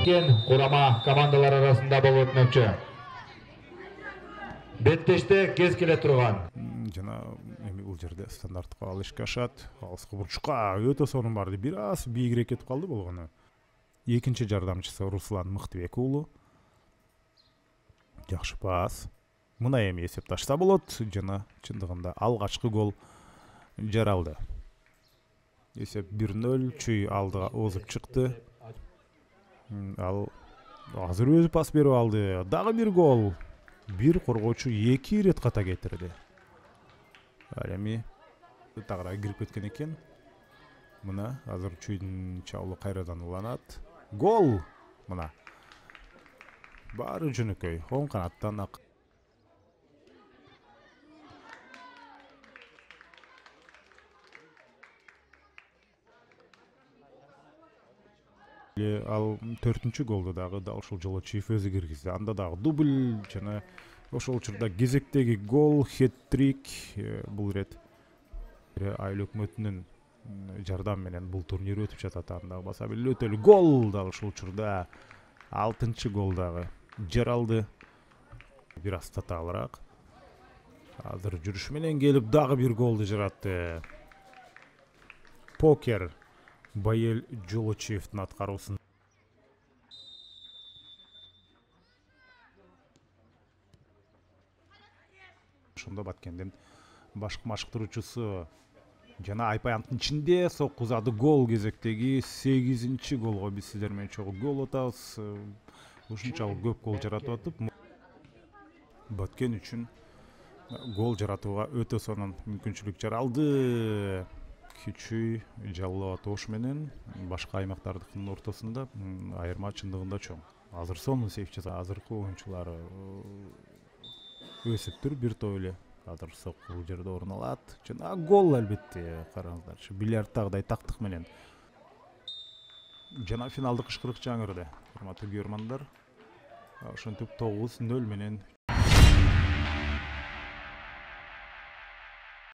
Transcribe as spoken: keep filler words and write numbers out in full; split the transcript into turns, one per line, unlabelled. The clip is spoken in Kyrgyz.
Курама командалар арасында болуп өтмөкчү. Беттеште кез келе турган.
Жана эми бул жерде стандарттык ал ишке ашат. Алыскы бурчка өтө сонун барды. Бир аз бийигирээк кетип калды болгону. Экинчи жардамчысы Руслан Мыктыбек уулу. Жакшы пас. Мына эми эсеп ташса болот. Жана чындыгында алгачкы гол жаралды. Эсеп бир нөл, Чүй алдыга озуп чыкты. Ал азыр өзү пас берип алды. Дагы бир гол. Бир коргоочу эки ирет ката кетирди. Ал эми тагыраак кирип кеткен экен. Мына азыр Чүйдүн чабуулу кайрадан уланат. Гол! Мына. Баары жөнөкөй. Оң канаттан ак. Ал төртүнчү голду дагы дал ушул жолу Чүйүп өзү киргизди. Анда дагы дубль жана ошол учурда кезектеги гол, хет-трик. Бул ирет айыл өкмөтүнүн жардамы менен бул турнир өтүп жатат. Анда баса бир өтөлү гол дал ушул учурда алтынчы гол дагы жаралды. Бир аз татаалыраак. Азыр жүрүш менен келип дагы бир голду жаратты. Покер Байел Жолочиевдин аткаруусун. Ошондо Баткендин башкы машыктыруучусу жана Айпаянттын ичинде соккузады гол кезектеги сегизинчи голго биз сиздер менен чогуу гол атабыз. Ушунчалык көп гол жаратып атып, Баткен үчүн гол жаратууга өтө сонун мүмкүнчүлүк жаралды. Кичүү жалоо тош менен башка аймактардыкынын ортосунда айырма чындыгында чоң. Азыр сонун сейф жаса, азыркы оюнчулар өсүптүр бир топ эле. Азыр сокку бул жерде орун алат. Жана гол албетте, караңыздарчы, бильярдтагыдай тактык менен. Жана финалдык ышкырык жаңырды. Урматтуу көрөрмандар, ошентип тогуз нөл менен